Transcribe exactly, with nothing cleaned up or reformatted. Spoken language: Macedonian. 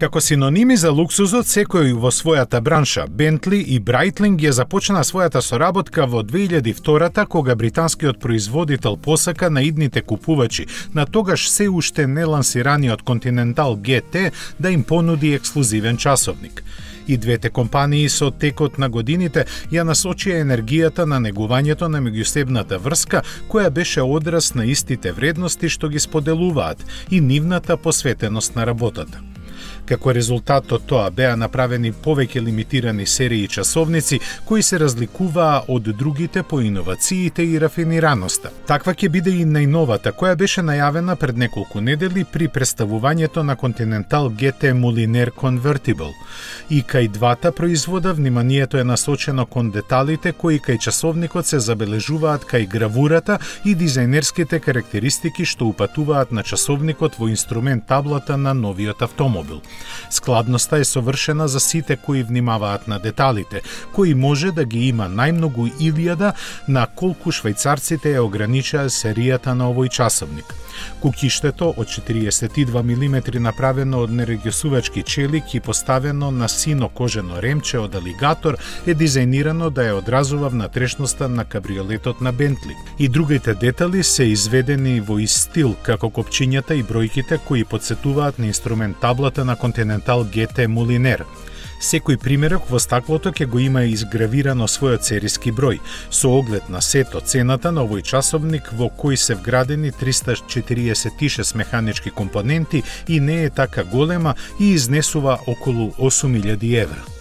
Како синоними за луксузот, секој во својата бранша, Бентли и Брайтлинг ја започна својата соработка во две илјади и втора кога британскиот производител посака на идните купувачи на тогаш се уште нелансираниот Continental Джи Т да им понуди ексклузивен часовник. И двете компании со текот на годините ја насочија енергијата на негувањето на меѓусебната врска, која беше одраз на истите вредности што ги споделуваат и нивната посветеност на работата. Како резултат од тоа беа направени повеќе лимитирани серии часовници кои се разликуваа од другите по иновациите и рафинираноста. Таква ќе биде и најновата, која беше најавена пред неколку недели при представувањето на Continental Джи Т Mulliner Convertible. И кај двата производа вниманието е насочено кон деталите кои кај часовникот се забележуваат кај гравурата и дизајнерските карактеристики што упатуваат на часовникот во инструмент таблата на новиот автомобил. Складноста е совршена за сите кои внимаваат на деталите, кои може да ги има најмногу илјада на колку швајцарците ја ограничаа серијата на овој часовник. Кукиштето од четириесет и два милиметри направено од нерегјосувачки челик и поставено на сино кожено ремче од алигатор е дизајнирано да ја одразува внатрешноста на кабриолетот на Бентли. И другите детали се изведени во ист стил, како копчињата и бројките кои потсетуваат на инструмент таблата на Continental Джи Т Mulliner. Секој примерок во стаклото ќе го има изгравирано својот сериски број, со оглед на сето цената на овој часовник во кој се вградени триста четириесет и шест механички компоненти и не е така голема и изнесува околу осум илјади евра.